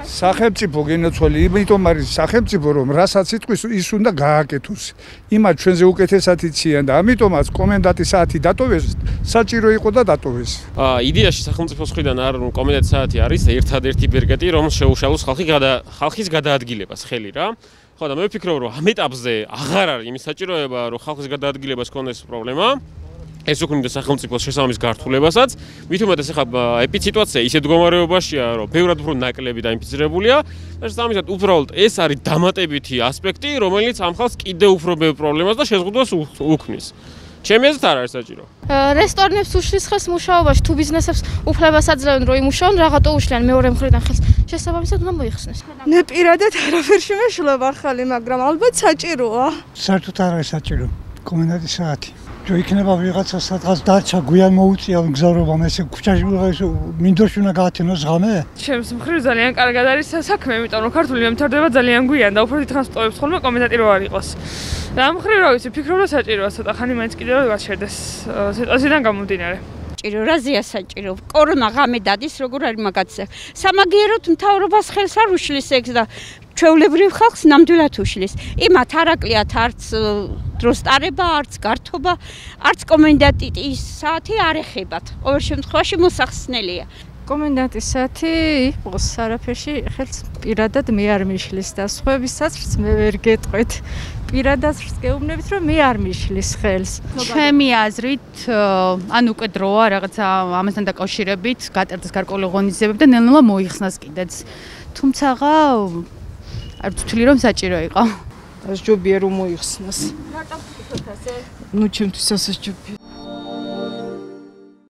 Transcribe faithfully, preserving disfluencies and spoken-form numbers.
სახელმწიფო გენოცვალი, იმიტომ არის სახელმწიფო, რომ რასაც იტყვის, ის უნდა გააკეთოს. იმათ ჩვენზე უკეთესად იციან და ამიტომაც კომენდანტის საათი დატოვეს, საჭირო იყო და დატოვეს. იდეაში სახელმწიფოს მხრიდან არ კომენდანტის საათი არის ერთადერთი ბერკეტი, რომ შეუშალოს ხალხი გადა ხალხის გადაადგილებას ხელი რა. ხო და მე ვფიქრობ, რომ ამ ეტაპზე აღარ არის იმის საჭიროება, რომ ხალხის გადაადგილებას ქონდეს პრობლემა. ეს უქმნიდა სახელმწიფოს შესაბამის გართულებასაც. მით უმეტეს ახლა ეპიციტუაცია ისეთ მდგომარეობაშია, რომ ბევრად უფრო ნაკლები დაინფიცირებულია და შესაბამისად უბრალოდ ეს არის დამატებითი ასპექტი, რომელიც ამ ხალხს კიდევ უფრო ბევრ პრობლემას და შეზღუდვას უქმნის. ჩემი აზრით არ არის საჭირო. რესტორნებს უშლის ხელს მუშაობაში, თუ ბიზნესებს უფლებას აძლევენ, რომ იმუშაონ, რაღაცა უშლიან მეორე მხრიდან ხელს. შესაბამისად უნდა მოიხსნეს. მე პირადად არაფერ შემეშლებ ახალი, მაგრამ ალბათ საჭიროა. საერთოდ არ არის საჭირო კომენდანტის საათი. თუ იქნება ვიღაცა სადღაც დარჩა, გვიან მოუწია მგზავრობამ, ესე ქუჩაში მინდორში უნდა გაათენოს ღამე? ჩემს მხრივ ძალიან კარგად არის საქმე, იმიტომ რომ ქართული მემთარდება ძალიან გვიან და უფრო დიდხანს ვტოვებს ხოლმე კომენდანტი რო არ იყოს. და ამ მხრივ რა ვიცი, ფიქრობ რომ საჭიროა ცოტა ხანი მაინც კიდევ გაჩერდეს სიტუაციიდან გამომდინარე. საჭირო, რაზეა საჭირო? კორონა ღამე დადის, როგორ არის მაგაცი. სამაგიეროდ მთავრობას ხელს არ უშლის ეგ და ჩვეულებრივ ხალხს ნამდვილად უშლის. იმათ არ აკლიათ არც დროს ტარება, არც გართობა, არც კომენდანტის საათი არ ეხებათ. ყოველ შემთხვევაში მოსახსნელია. კომენდანტის საათი იყოს არაფერში ხელს პირადად მე არ მიშლის და სხვებისაც მე ვერ გეტყვით. პირადად გეუბნებით, რომ მე არ მიშლის ხელს. ჩემი აზრით, ან უკვე დროა რაღაცა ამასთან დაკავშირებით, გატერდეს გარკვეული ღონისძიებები და ნელ-ნელა მოიხსნას კიდეც. თუმცა არ ვთვლი რომ საჭირო იყო. ეს ჯობია რომ მოიხსნას. ნუ ჩემთვის ასე ჯობია.